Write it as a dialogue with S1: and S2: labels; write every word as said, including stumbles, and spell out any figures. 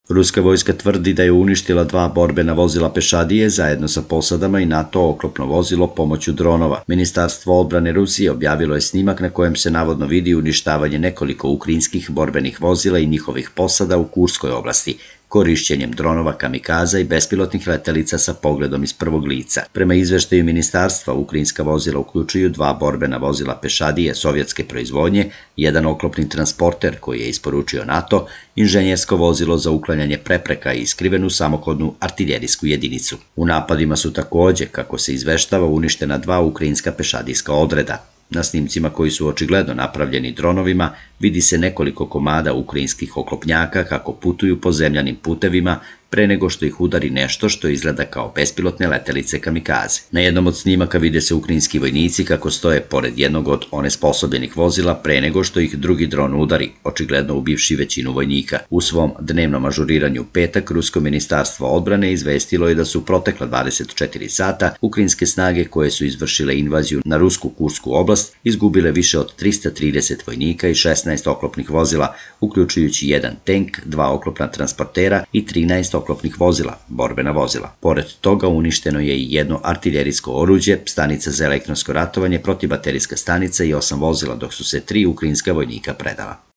S1: Ruska vojska tvrdi da je uništila dva borbena vozila pešadije zajedno sa posadama i NATO oklopno vozilo pomoću dronova. Ministarstvo odbrane Rusije objavilo je snimak na kojem se navodno vidi uništavanje nekoliko ukrajinskih borbenih vozila i njihovih posada u Kurskoj oblasti, korišćenjem dronova kamikaza i bespilotnih letelica sa pogledom iz prvog lica. Prema izveštaju ministarstva, ukrajinska vozila uključuju dva borbena vozila pešadije sovjetske proizvodnje, jedan oklopni transporter koji je isporučio NATO, inženjersko vozilo za uklanjanje prepreka i skrivenu samohodnu artiljerijsku jedinicu. U napadima su takođe, kako se izveštava, uništena dva ukrajinska pešadijska odreda. Na snimcima koji su očigledno napravljeni dronovima vidi se nekoliko komada ukrajinskih oklopnjaka kako putuju po zemljanim putevima pre nego što ih udari nešto što izgleda kao bespilotne letelice kamikaze. Na jednom od snimaka vide se ukrajinski vojnici kako stoje pored jednog od onesposobljenih vozila pre nego što ih drugi dron udari, očigledno ubivši većinu vojnika. U svom dnevnom ažuriranju u petak, Rusko ministarstvo odbrane izvestilo je da su protekla dvadeset četiri sata ukrajinske snage koje su izvršile invaziju na rusku Kursku oblast izgubile više od trista trideset vojnika i šesnaest oklopnih vozila, uključujući jedan tank, dva oklopna transportera i trinaest oklopnih vozila, borbena vozila. Pored toga uništeno je i jedno artiljerijsko oruđe, stanica za elektronsko ratovanje, protivbaterijska stanica i osam vozila, dok su se tri ukrajinska vojnika predala.